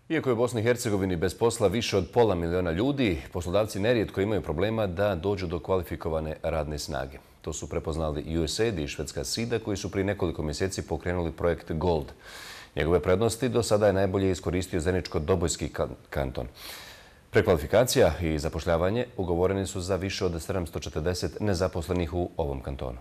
Iako je u Bosni i Hercegovini bez posla više od pola miliona ljudi, poslodavci nerijetko imaju problema da dođu do kvalifikovane radne snage. To su prepoznali USAID i švedska SIDA koji su prije nekoliko mjeseci pokrenuli projekt GOLD. Njegove prednosti do sada je najbolje iskoristio Zeničko-Dobojski kanton. Prekvalifikacija i zapošljavanje ugovoreni su za više od 740 nezaposlenih u ovom kantonu.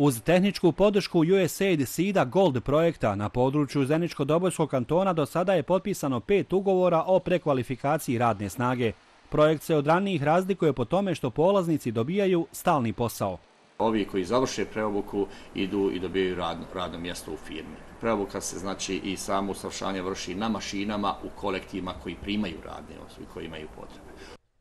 Uz tehničku podršku USAID SIDA GOLD projekta na području Zeničko-Dobojskog kantona do sada je potpisano 5 ugovora o prekvalifikaciji radne snage. Projekt se od ranijih razlikuje po tome što polaznici dobijaju stalni posao. Ovi koji završe preobuku idu i dobijaju radno mjesto u firmi. Preobuka se znači i samo usavršavanje vrši na mašinama u kolektivima koji primaju radne osobe koji imaju potrebe.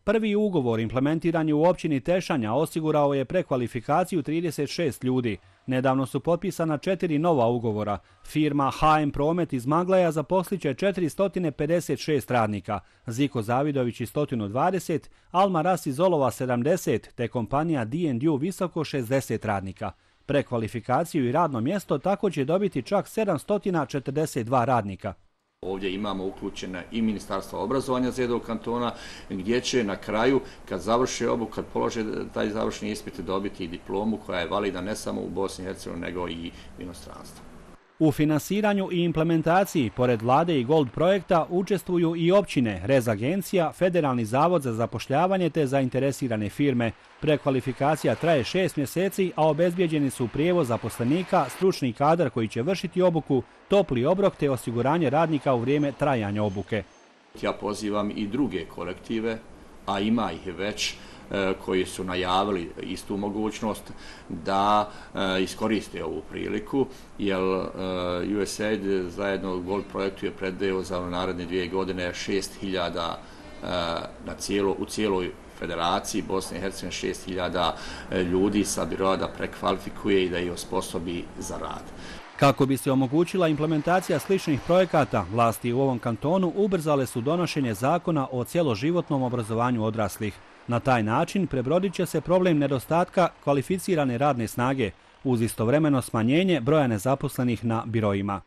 Prvi ugovor implementiran je u općini Tešanja, osigurao je prekvalifikaciju 36 ljudi. Nedavno su potpisana 4 nova ugovora. Firma HM Promet iz Maglaja zaposliće 456 radnika, Ziko Zavidović iz 120, Alma Ras iz Olova 70, te kompanija D&U Visoko 60 radnika. Prekvalifikaciju i radno mjesto tako će dobiti čak 742 radnika. Ovdje imamo uključena i Ministarstvo obrazovanja Zedovog kantona, gdje će na kraju, kad završe obuku, kad polože taj završni ispit, dobiti i diplomu koja je validna ne samo u Bosni i Hercegovini, nego i u inostranstvu. U finansiranju i implementaciji, pored vlade i GOLD projekta, učestvuju i općine, Rez agencija, Federalni zavod za zapošljavanje te zainteresirane firme. Prekvalifikacija traje 6 mjeseci, a obezbijeđeni su prijevoz zaposlenika, stručni kadar koji će vršiti obuku, topli obrok te osiguranje radnika u vrijeme trajanja obuke. Ja pozivam i druge kolektive, a ima ih već, koji su najavili istu mogućnost da iskoriste ovu priliku, jer USAID zajedno u GOLD projektu je predvidio za naredne 2 godine 6.000 u cijeloj Federaciji Bosne i Hercegovine 6.000 ljudi sa biroa da prekvalifikuje i da ih osposobi za rad. Kako bi se omogućila implementacija sličnih projekata, vlasti u ovom kantonu ubrzale su donošenje zakona o cjeloživotnom obrazovanju odraslih. Na taj način prebrodit će se problem nedostatka kvalificirane radne snage uz istovremeno smanjenje broja nezaposlenih na biroima.